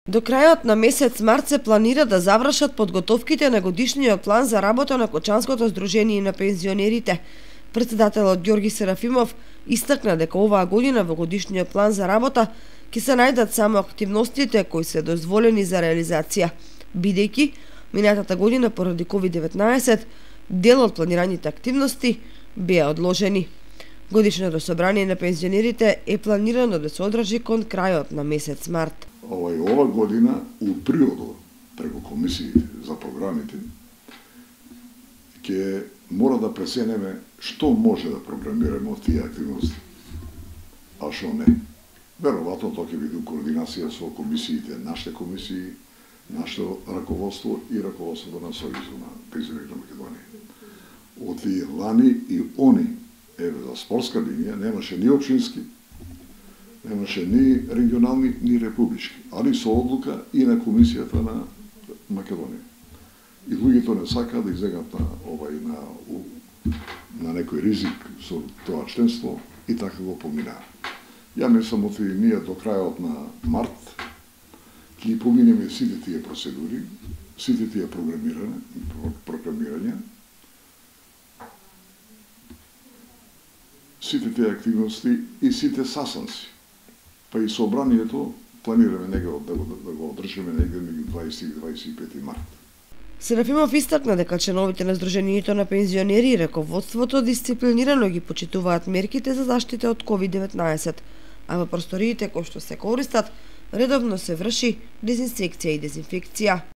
До крајот на месец март се планира да завршат подготовките на годишниот план за работа на Кочанското здружение на пензионерите. Председателот Ѓорги Серафимов истакна дека оваа година во годишниот план за работа ќе се најдат само активностите кои се дозволени за реализација, бидејќи минатата година поради COVID-19 дел од планираните активности беа одложени. Годишното собрание на пензионерите е планирано да се одржи кон крајот на месец март. Ова година, у приодот, преку комисиите за програмите, ќе мора да пресенеме што може да програмираме од тие активности, а што не. Веројатно тоа ќе биде координација со комисиите, нашите комисии, нашето раководство и раководството на Сојузот на пензионерите на Македонија. Од тие лани и они, за спортска линија, немаше ни општински, немаше ни регионални, ни републички, али со одлука и на Комисијата на Македонија. И луѓето не сакаат да излегат на некој ризик со тоа членство и така го поминаа. Ја мислам оти ние до крајот на март ќе поминеме сите тие процедури, сите тие програмирања, сите тие активности и сите састанци. Па и собранието планираме да го одржиме негде меѓу 20 и 25 март. Серафимов истакна дека членовите на Здруженијето на пензионери и раководството дисциплинирано ги почитуваат мерките за заштита од COVID-19, а во просториите кои што се користат редовно се врши дезинсекција и дезинфекција.